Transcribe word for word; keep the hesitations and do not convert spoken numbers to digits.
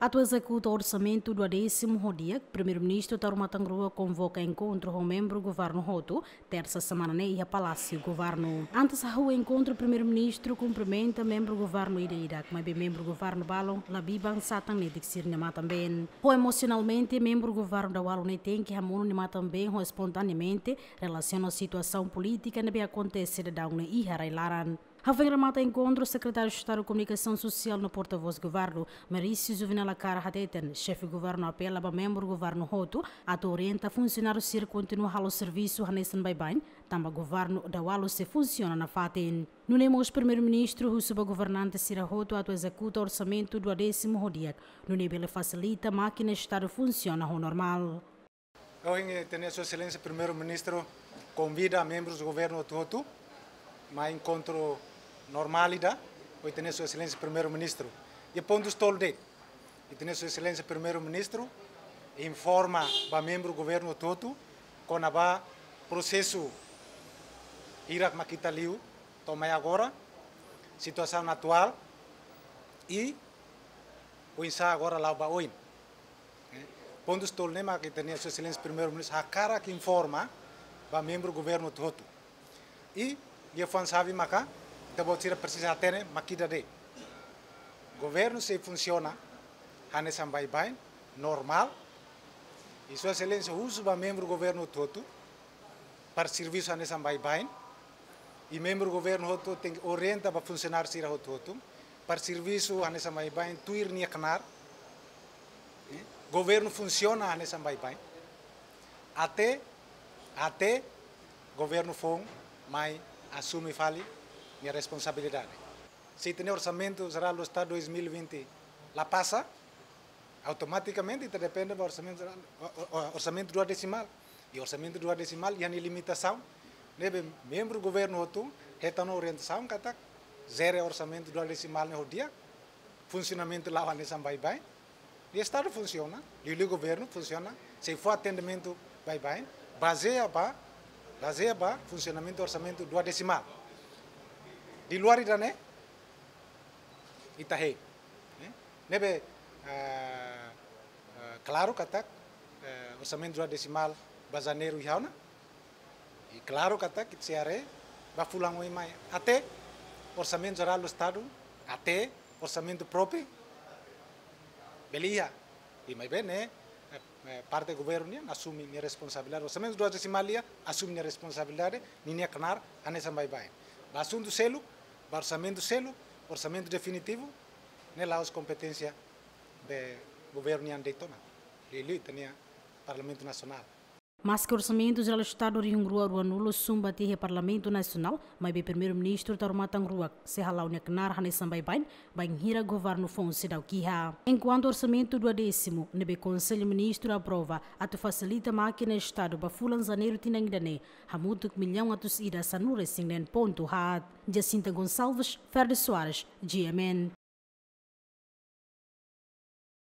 Atu ezekuta orsamentu duodésimu ho di'ak, Primeiru-Ministru Taur Matan Ruak konvoka enkontru ho membru governu hotu, tersa semana ne'e iha Palásiu Governu. Antes hahú enkontru, Primeiru-Ministru kumprimenta membru governu ida-idak, maibé membru governu balun la biban satan netik sira-nia matan-been. Ho emosionalmente, membru governu dawalu ne'e tenke hamonu nia matan-been ho espontaneamente relasiona situasaun polítika ne'ebé akontese daudaun ne'e iha rai-laran. Hafoin remata enkontru, Sekretáriu Estadu Komunikasaun Sosiál no Portavós Governu, Maurício Juvenal Acar, hateten, xefe governu apela ba membru governu hotu atu orienta funsionáriu sira kontinua halo servisu hanesan baibain, tanba governu dawalu sei funsiona nafatin. Nune'e mós Primeiru-Ministru husu ba governante sira hotu atu ezekuta orsamentu duodésimu ho di'ak, nune'e bele fasilita mákina Estadu funsiona ho normál. Ohin, eh, ita-nia Sua Exelénsia Primeiru-Ministru konvida membrus governu hotu-hotu mai enkontru normál ida ho ita-nia Sua Exelénsia Primeiru-Ministru. Iha pontus tolu de'it, ita-nia Sua Exelénsia Primeiru-Ministru informa ba membru governu hotu-hotu kona-ba prosesu hirak mak ita liu to'o mai agora, situasaun atuál i oinsá agora la'o ba oin. Eh, pontus tolu ne'e mak ita-nia Sua Exelénsia Primeiru-Ministru hakarak informa ba membru governu hotu-hotu. I liafuan xave maka ita-boot sira presiza hatene mak ida de'it. Governu sei funsiona hanesan baibain, normál. I Sua Exelénsia husu ba membru governu hotu-hotu para servisu hanesan baibain. I membru governu hotu tenke orienta ba funsionáriu sira hotu-hotu para servisu hanesan baibain, tuir nia knaar. Eh, governu funsiona hanesan baibain. Até, até governu foun mai asume fali nia responsabilidade. Se ita-nia Orsamentu Jerál do Estadu dois mil e vinte la pasa, automatikamente ita depende ba orsamentu jerál, o-, o-, o-, orsamentu duodesimál. I orsamentu duodesimál iha nia limitasaun. Ne'ebé membru governu hotu hetan orientasaun katak jere orsamentu duodesimál ne'e ho di'ak, funsionamentu la'o hanesan baibain. I Estadu funsiona, liuliu governu funsiona, sei fó atendimentu baibain, bazeia ba, bazeia ba funsionamentu orsamentu duodesimál. Di luar ida-ne'e, ita hein. Eh? Ne'ebé, eh, eh, klaru katak, eh, orsamentu duodesimál ba Janeiru iha ona. I klaru katak ita sei haree ba fulan oin mai. Até Orsamentu Jerál do Estadu, até orsamentu própriu, bele iha. I maibé ne'e, eh, eh, parte governu nian asume nia responsabilidade. Orsamentu duodesimál iha, asume nia responsabilidade, ninia knaar hanesan baibain. Ba asuntu seluk, ba orsamentu seluk, orsamentu definitivu, ne'e la'ós kompeténsia be governu nian de'it ona. Liuliu ita-nia Parlamentu Nasionál. Maske Orsamentu Jerál Estadu rihun rua ruanulu sumba tiha iha Parlamentu Nasionál, maibé Primeiru-Ministru Taur Matan Ruak sei hala'o nia knaar hanesan baibain, bainhira governu foun seidauk iha. Enkuantu orsamentu duodésimu ne'ebé Konsellu Ministru aprova atu fasilita mákina Estadu ba fulan Janeiru tinan ida-ne'e, hamutuk millaun atus ida sanulu-resin-neen pontu haat. Jacinta Gonçalves, Ferdi Soares, G M N.